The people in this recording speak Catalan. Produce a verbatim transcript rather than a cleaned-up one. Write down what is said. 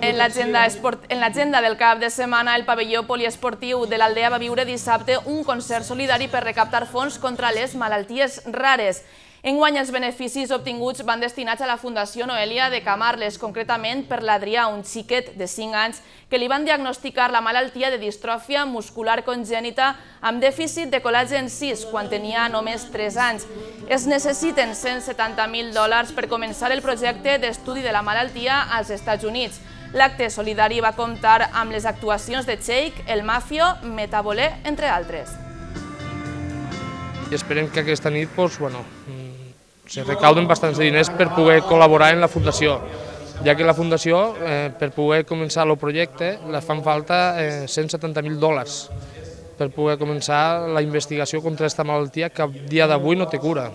En l'agenda del cap de setmana, el pavelló poliesportiu de l'Aldea va viure dissabte un concert solidari per recaptar fons contra les malalties rares. Enguany, els beneficis obtinguts van destinats a la Fundació Noelia de Camarles, concretament per l'Adrià, un xiquet de cinc anys, que li van diagnosticar la malaltia de distròfia muscular congènita amb dèficit de col·làgen sis quan tenia només tres anys. Es necessiten cent setanta mil dòlars per començar el projecte d'estudi de la malaltia als Estats Units. L'acte solidari va comptar amb les actuacions de Cheik, El Mafio, Metabolé, entre altres. I esperem que aquesta nit se recauden bastants diners per poder col·laborar en la Fundació, ja que la Fundació, per poder començar el projecte, li fan falta cent setanta mil dòlars per poder començar la investigació contra aquesta malaltia que a dia d'avui no té cura.